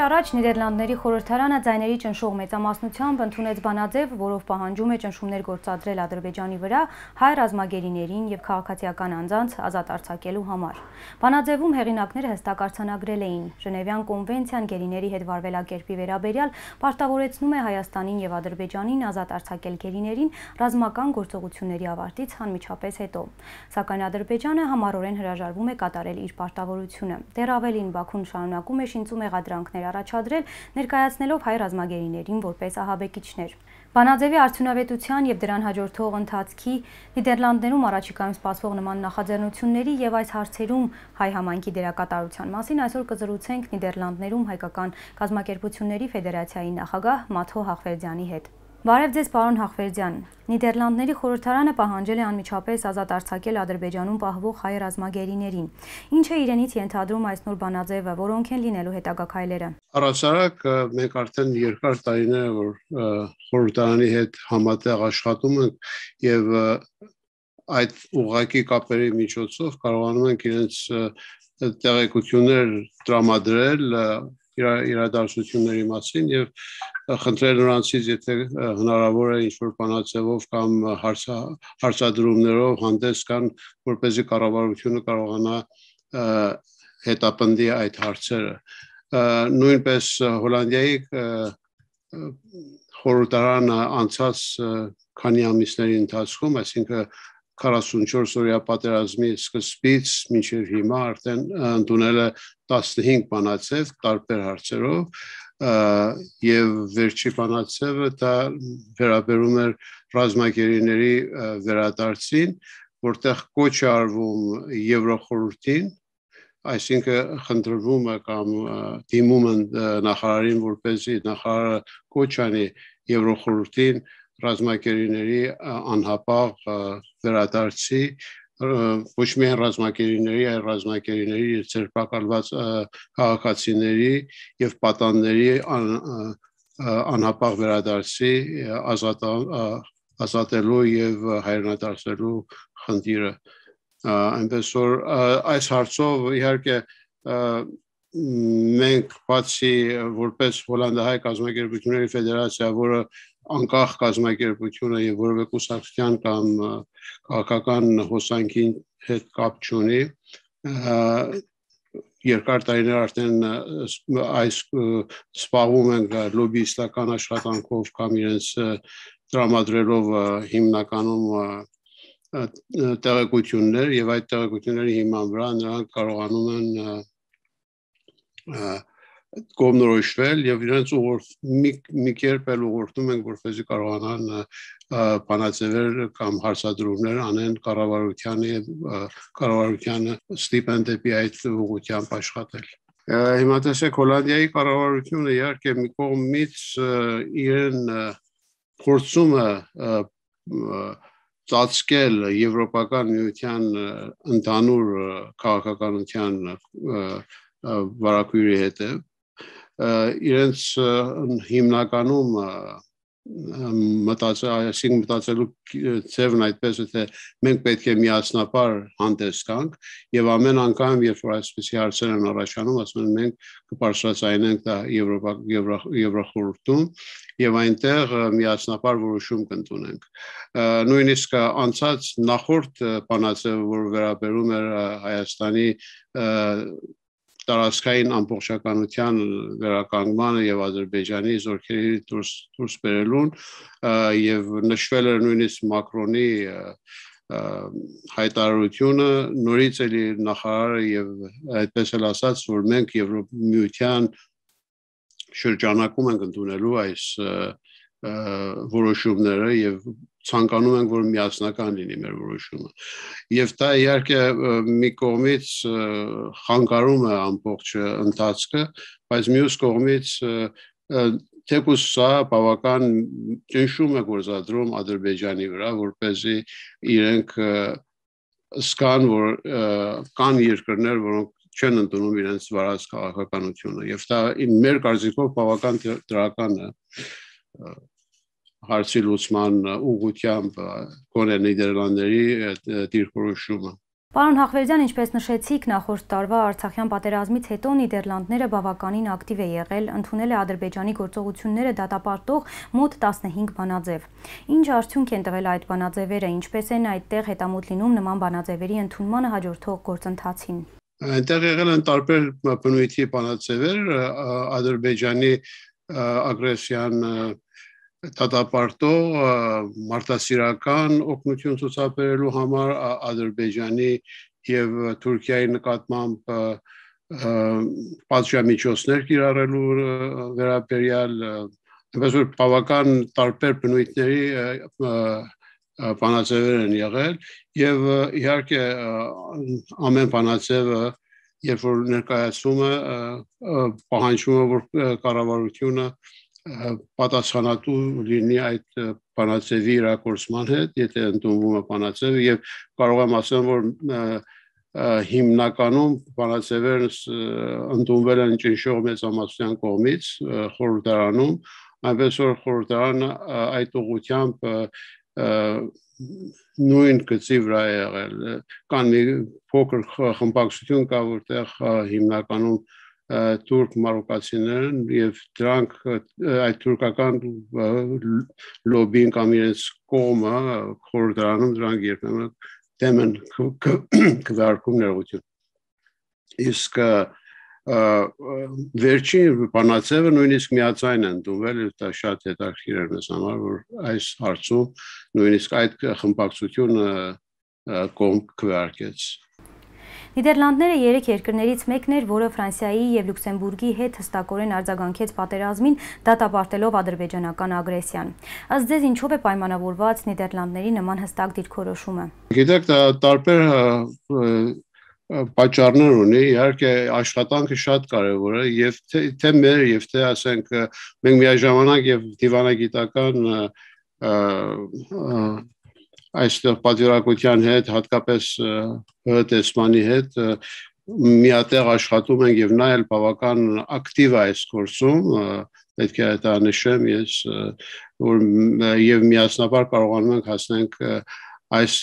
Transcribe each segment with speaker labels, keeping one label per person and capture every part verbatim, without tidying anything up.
Speaker 1: առաջ Նիդերլանդների խորհրդարանը ձայների ճնշող մեծամասնությամբ ընդունեց բանաձև, որով պահանջում է ճնշումներ գործադրել Ադրբեջանի վրա հայ ռազմագերիներին և քաղաքացիական անձանց ազատ արձակելու համար։ Բանաձևում հեղինակները հստակ արձանագրել էին. Ժնևյան կոնվենցիան գերիների հետ վարվելակերպի վերաբերյալ պարտավորեցնում է Հայաստանին և Ադրբեջանին ազատ արձակել գերիներին ռազմական գործողությունների ավարտից անմիջապես հետո։ Սակայն Ադրբեջանը համառորեն հրաժարվում է կատարել իր պարտավորությունը։ Դեռ ավելին, Բաքուն շարունակում է շինծու մեղադրանքներ առաջադրել, ներկայացնելով հայ ռազմագերիներին որպես ահաբեկիչներ։ Բանաձևի արդյունավետության և դրան հաջորդող ընթացքի, Նիդերլանդներում առաջիկայում սպասվող նման նախաձեռնությունների և այս հարցերում հայ համայնքի դերակատարության մասին այսօր կզրուցենք Նիդերլանդներում հայկական կազմակերպությունների ֆեդերացիայի նախագահ Մաթո Հախվերդյանի հետ։ Բարև ձեզ, պարոն Հախվերդյան։ Նիդերլանդների խորհրդարանը պահանջել է անմիջապես ազատ արձակել Ադրբեջանում պահվող հայ ռազմագերիներին։ Ինչ է իրենից ենթադրում այս նոր բանաձևը, որոնք են լինելու հետագա քայլերը։
Speaker 2: Առհասարակ մենք արդեն երկար տարիներ է, որ խորհրդարանի հետ համատեղ աշխատում ենք եւ այդ ուղղակի կապերի միջոցով կարողանում ենք իրենց տեղեկություններ տրամադրել իրադարձությունների մասին եւ խնդրել նրանցից, եթե հնարավոր է ինչ-որ բանաձևով կամ հարցադրումներով հանդես գան, որպեսզի կառավարությունը կարողանա հետապնդի այդ հարցերը։ Նույնպես Հոլանդիայի խորհրդարանը անցած քանի ամիսների ընթացքում, այսինքն քառասունչորս օրյա պատերազմի սկզբից մինչև հիմա արդեն ընդունել է տասնհինգ բանաձև տարբեր հարցերով եւ վերջի բանաձևը դա վերաբերում էր ռազմագերիների վերադարձին, որտեղ կոչ է արվում Եվրոխորհրդին, այսինքն խնդրվում է կամ դիմում են նախարարին, որպեսզի նախարարը կոչ անի Եվրոխորհրդին ռազմագերիների անհապաղ վերադարձի, ոչ միայն ռազմագերիների, այլ ռազմագերիների ձերբակալված քաղաքացիների եւ պատանների անհապաղ վերադարձի ազատելու եւ հայրենադարձելու խնդիրը։ Այնպես որ այս հարցով իհարկե մենք բացի որպես Հոլանդահայ կազմակերպությունների ֆեդերացիա, որը անկախ կազմակերպություն է եւ որևէ կուսակցության կամ քաղաքական հոսանքի հետ կապ չունի, երկար տարիներ արդեն այս սպառում ենք լոբիստական աշխատանքով կամ իրենց տրամադրելով հիմնականում տեղեկություններ եւ այդ տեղեկությունների հիման վրա նրանք կարողանում են կողմնորոշվել եւ իրենց մի կերպ էլ ուղղորդում ենք, որպեսզի կարողանան բանաձևեր կամ հարցադրումներ անեն կառավարությանը եւ կառավարությանը ստիպեն դեպի այդ ուղղությամբ աշխատել։ Հիմա տեսեք, Հոլանդիայի կառավարությունը իհարկե մի կողմից իրեն փորձում է ծածկել Եվրոպական միության ընդհանուր քաղաքականության վարակույրի հետև, իրենց հիմնականում մտածել, մտածելու ձևն այդպես է, թե մենք պետք է միասնապար հանդես գանք եւ ամեն անգամ, երբ որ այսպիսի հարցեր են առաջանում, ասում են մենք կբարձրացնենք դա Եվրոխորհրդում եւ այնտեղ միասնապար որոշում կընդունենք։ Նույնիսկ անցած նախորդ բանաձևը, որ վերաբերում էր Հայաստանի տարածքային ամբողջականության վերականգնմանը եւ Ադրբեջանի զորքերի դուրս բերելուն եւ նշվել էր նույնիսկ Մակրոնի հայտարարությունը, նորից էլի նախարարը եւ այդպես էլ ասաց, որ մենք Եվրոմիության շրջանակում ենք ընդունելու այս որոշումները եւ ցանկանում ենք, որ միասնական լինի մեր որոշումը։ Եվ դա իհարկե մի կողմից խանգարում է ամբողջ ընթացքը, բայց մյուս կողմից թեկուզ սա բավական ճնշում է գործադրում Ադրբեջանի վրա, որպեսզի իրենք զգան, որ կան երկրներ, որոնք չեն ընդունում իրենց վարած քաղաքականությունը եւ դա մեր կարծիքով բավական դրական է հարցի լուծման ուղղությամբ գոնե Նիդերլանդների դիրքորոշումը։
Speaker 1: Պարոն Հախվերդյան, ինչպես նշեցիք, նախորդ տարվա Արցախյան պատերազմից հետո Նիդերլանդները բավականին ակտիվ է եղել, ընդունել է Ադրբեջանի գործողությունները դատապարտող մոտ տասնհինգ բանաձև։ Ինչ արդյունք են տվել այդ բանաձևերը, ինչպես են այդտեղ հետամուտ լինում նման բանաձևերի ընդունմանը հաջորդող գործընթացին։
Speaker 2: Այնտեղ եղել են տարբեր բնույթի բանաձևեր, Ադրբեջանի ագրեսիան դատապարտող մարդասիրական օգնություն ցուցաբերելու համար, Ադրբեջանի եւ Թուրքիայի նկատմամբ պատժամիջոցներ կիրառելու վերաբերյալ, այնպես որ բավական տարբեր բնույթների բանաձևեր են եղել եւ իհարկե ամեն բանաձևը երբ որ ներկայացվում է պահանջվում է որ կառավարությունը պատասխանատու լինի այդ բանաձևի իրագործման հետ, եթե ընդունվում է բանաձևը եւ կարող եմ ասել, որ հիմնականում բանաձևերը ընդունվել են ճնշող մեծամասնության կողմից խորհրդարանում, այնպես որ խորհրդարանը այդ ուղղությամբ նույն գծի վրա է եղել, կան մի փոքր խմբակցություն կա, որտեղ հիմնականում թուրք մարոկացիներն եւ դրանք այդ թուրքական լոբին կամ իրենց կողմը խորհրդարանում դրանք երբեմն դեմ են քվեարկում ներողություն։ Իսկ վերջին բանաձևը նույնիսկ միաձայն են ընդունվել, դա շատ հետաքրքիր էր մեզ համար, որ այս հարցում նույնիսկ այդ խմբակցությունը կողմ քվեարկեց։
Speaker 1: Նիդերլանդները երեք երկրներից մեկն էր, որը Ֆրանսիայի եւ Լյուքսեմբուրգի հետ հստակորեն արձագանքեց պատերազմին, դատապարտելով ադրբեջանական ագրեսիան։ Ըստ ձեզ ինչով է պայմանավորված Նիդերլանդների նման հստակ դիրքորոշումը։
Speaker 2: Գիտեք, տարբեր պատճառներ ունի, իհարկե աշխատանքը շատ կարևոր է եւ թե մեր եւ թե ասենք մենք միաժամանակ եւ դիվանագիտական այստեղ պատվիրակության հետ, հատկապես հրետեսմանի հետ միատեղ աշխատում ենք եւ նա էլ բավական ակտիվ է այս գործում, պետք է դա նշեմ ես, որ եւ միասնաբար կարողանում ենք հասնենք այս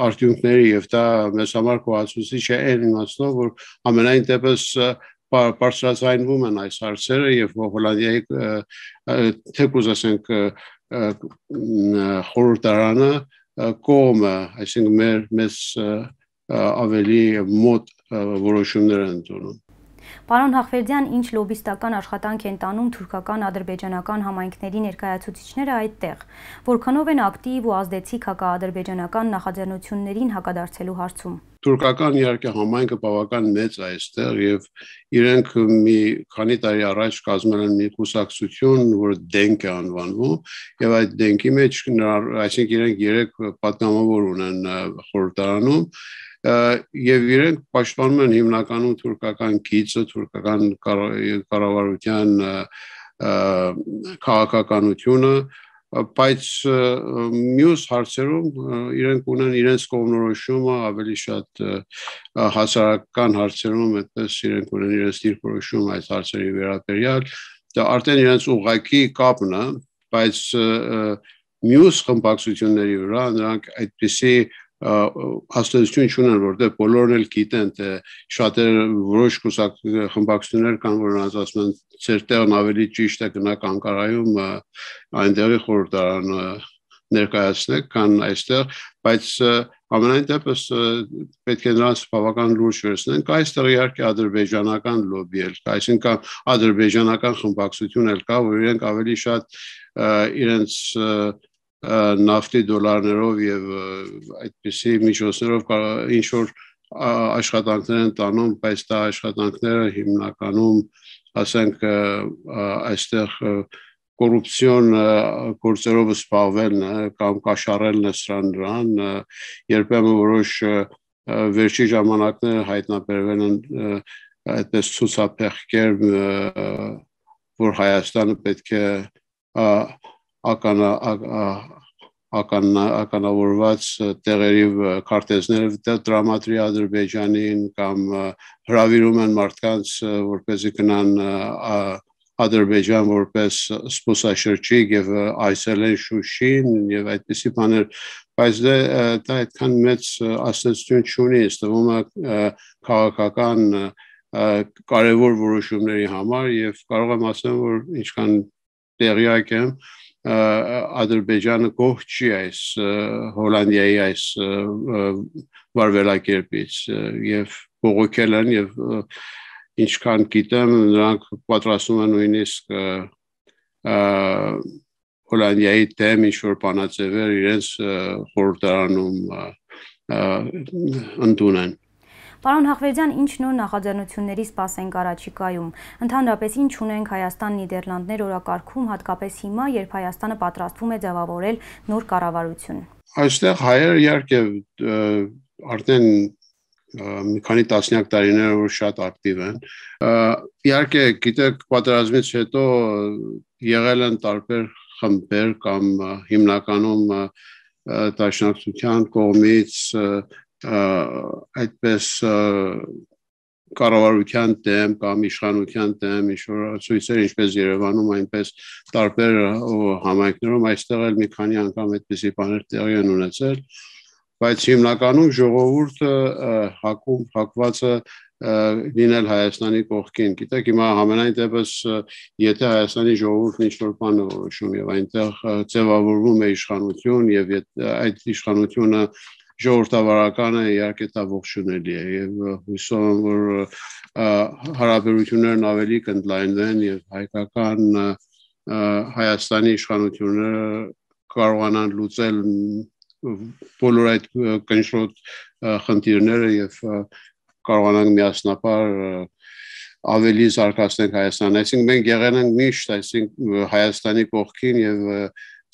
Speaker 2: արդյունքների եւ դա մեզ համար կողացուցիչ է այն իմաստով, որ ամենայն դեպս բարձրացնվում են այս հարցերը եւ Հոլանդիայի թեկուզ ասենք խորհրդարանը կողմը, այսինքն մեր մեզ ավելի մոտ որոշումներ են ընդունում։
Speaker 1: Պարոն Հախվերդյան, ինչ լոբիստական աշխատանք են տանում թուրքական ադրբեջանական համայնքների ներկայացուցիչները այդտեղ, որքանով են ակտիվ ու ազդեցիկ հակաադրբեջանական նախաձեռնություններին հակադարձելու հարցում։
Speaker 2: Թուրքական իհարկե համայնքը բավական մեծ է այստեղ եւ իրենք մի քանի տարի առաջ կազմել են մի կուսակցություն, որը դենք է անվանվում եւ այդ դենքի մեջ, այսինքն իրենք երեք պատգամավոր ունեն խորհրդարանում եւ իրենք պաշտպանում են հիմնականում թուրքական գիծը, թուրքական կառավարության քաղաքականությունը, բայց մյուս հարցերում իրենք ունեն իրենց կողմնորոշումը ավելի շատ հասարակական հարցերում, այդպես իրենք ունեն իրենց դիրքորոշումը այս հարցերի վերաբերյալ, դա արդեն իրենց ուղղակի կապն է, բայց մյուս խմբակցությունների վրա նրանք այդպիսի հաստատություն չունեն, որտեղ բոլորն էլ գիտեն, թե շատերը որոշ կուսակ խմբակցություններ կան, որ ասում են, ձեր տեղն ավելի ճիշտ է գնաք Անկարայում այնտեղի խորհրդարանը ներկայացնեք, քան այստեղ, բայց ամենայն դեպս պետք է նրանց բավական լուրջ վերցնենք, այստեղ իհարկե ադրբեջանական լոբի էլ կա, այսինքն ադրբեջանական խմբակցություն էլ կա, որ իրենք ավելի շատ իրենց նավթի դոլարներով եւ այդպիսի միջոցներով ինչ որ աշխատանքներ են տանում, բայց դա աշխատանքները հիմնականում, ասենք, այստեղ կոռուպցիոն գործերով զբաղվելն է կամ կաշառելն է սրան դրան, երբեմն որոշ վերջի ժամանակները հայտնաբերվել են այդպես ցուցափեղկեր, որ Հայաստանը պետք է ականա ականավորված տեղերի քարտեզները տրամադրի Ադրբեջանին կամ հրավիրում են մարդկանց, որպեսզի գնան Ադրբեջան որպես զբոսաշրջիկ եւ այցելեն Շուշին եւ այդպիսի բաներ, բայց դա այդքան մեծ աստեցություն չունի, ըստ թվում է քաղաքական կարևոր որոշումների համար եւ կարող եմ ասեմ, որ ինչքան տեղյակ եմ, Ադրբեջանը գոհ չի այս Հոլանդիայի այս վարվելակերպից եւ բողոքել են եւ ինչքան գիտեմ նրանք պատրաստում են նույնիսկ Հոլանդիայի դեմ ինչ-որ բանաձևեր իրենց խորհրդարանում ընդունեն։
Speaker 1: Պարոն Հախվերդյան, ինչ նոր նախաձեռնությունների սպասենք առաջիկայում։ Ընդհանրապես ինչ ունենք Հայաստան-Նիդերլանդներ օրակարգում, հատկապես հիմա, երբ Հայաստանը պատրաստվում է ձևավորել նոր կառավարություն։
Speaker 2: Այստեղ հայերը իհարկե արդեն մի քանի տասնյակ տարիներ որ շատ ակտիվ են։ Իհարկե, գիտեք, պատերազմից հետո եղել են տարբեր խմբեր կամ հիմնականում դաշնակցության կողմից այդպես կառավարության դեմ կամ իշխանության դեմ ինչ-որ ցույցեր ինչպես Երևանում, այնպես տարբեր համայնքներում այստեղ էլ մի քանի անգամ այդպիսի բաներ տեղի են ունեցել, բայց հիմնականում ժողովուրդը հակում հակված է լինել Հայաստանի կողքին։ Գիտեք, հիմա համենայն դեպս եթե Հայաստանի ժողովուրդն ինչ-որ բան է որոշում եւ այնտեղ ձևավորվում է իշխանություն եւ այդ իշխանությունը ժողովրդավարականը իհարկե դա ողջունելի է եւ հույսով եմ որ հարաբերություններն ավելի կընդլայնվեն եւ հայկական Հայաստանի իշխանությունները կարողանան լուծել բոլոր այդ կնճռոտ խնդիրները եւ կարողանանք միասնապար ավելի զարգացնել Հայաստանը։ Այսինքն մենք եղել ենք միշտ այսինքն Հայաստանի կողքին եւ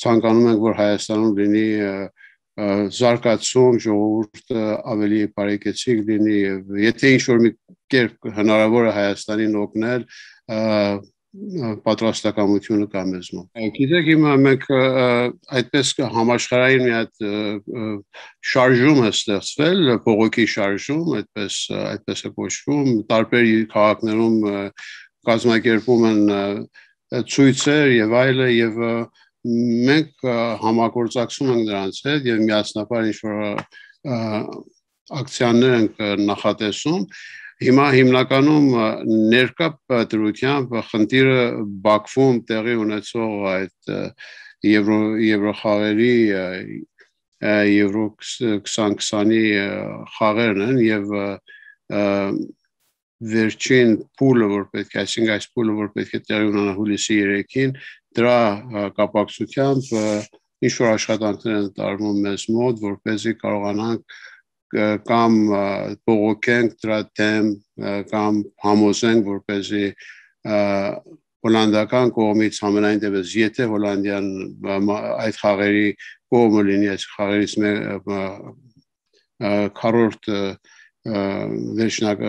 Speaker 2: ցանկանում ենք որ Հայաստանում լինի զարգացում, ժողովուրդը ավելի բարեկեցիկ լինի եւ եթե ինչ-որ մի կերպ հնարավոր է Հայաստանին օգնել, պատրաստակամությունը կա մեզ մոտ։ Գիտեք, հիմա մենք այդպես համաշխարհային մի հատ շարժում է ստեղծվել, բողոքի շարժում, այդպես այդպես է կոչվում, տարբեր քաղաքներում կազմակերպում են ցույցեր եւ այլը եւ մենք համագործակցում ենք նրանց հետ եւ միասնապար ինչ-որ ակցիաներ ենք նախատեսում։ Հիմա հիմնականում ներկա դրությամբ խնդիրը Բաքվում տեղի ունեցող այդ եվրո եվրոխաղերի եվրո քսան քսանի խաղերն են եւ վերջին փուլը որ պետք է, այսինքն այս փուլը որ պետք է տեղի ունենա հուլիսի երեքին, դրա կապակցությամբ ինչ-որ աշխատանքներ են տարվում մեզ մոտ, որպեսզի կարողանանք կամ բողոքենք դրա դեմ կամ համոզենք, որպեսզի հոլանդական կողմից համենայն դեպս եթե Հոլանդիան այդ խաղերի կողմը լինի, այս խաղերից քառորդ վերջնակ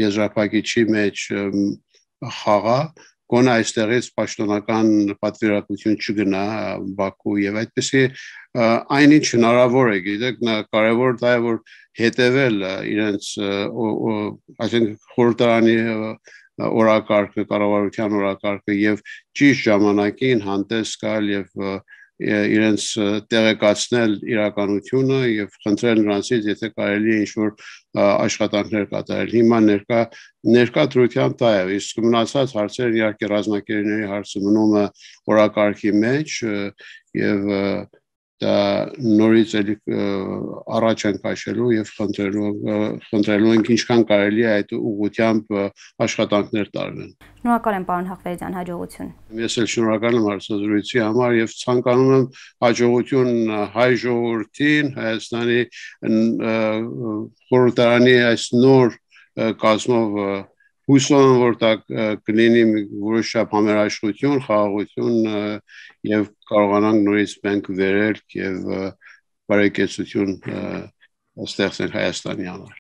Speaker 2: եզրափակիչի մեջ խաղա, գոնե այստեղից պաշտոնական պատվիրակություն չգնա Բաքու եւ այդպեսի այնինչ հնարավոր է, գիտեք, կարևոր դա է որ հետեւել իրենց այսինքն խորհրդարանի օրակարգը, կառավարության օրակարգը եւ ճիշտ ժամանակին հանդես գալ եւ իրենց տեղեկացնել իրականությունը եւ խնդրել նրանցից եթե կարելի է ինչ-որ աշխատանքներ կատարել։ Հիմա ներկա ներկա դրությամբ դա է, իսկ մնացած հարցերը իհարկե ռազմակերպների հարցը մնում է օրակարգի մեջ եւ դա նորից էլի առաջ են քաշելու եւ խնդրելու խնդրելու ենք ինչքան կարելի է այդ ուղղությամբ աշխատանքներ տարվեն։
Speaker 1: Շնորհակալ եմ պարոն Հախվերդյան, հաջողություն։
Speaker 2: Ես էլ շնորհակալ եմ հարցազրույցի համար եւ ցանկանում եմ հաջողություն հայ ժողովրդին, Հայաստանի խորհրդարանի այս նոր կազմով հույսով եմ որ դա կլինի որոշ չափ համերաշխություն, խաղաղություն եւ կարողանանք նորից մենք վերել եւ բարեկեցություն ստեղծել Հայաստանի համար։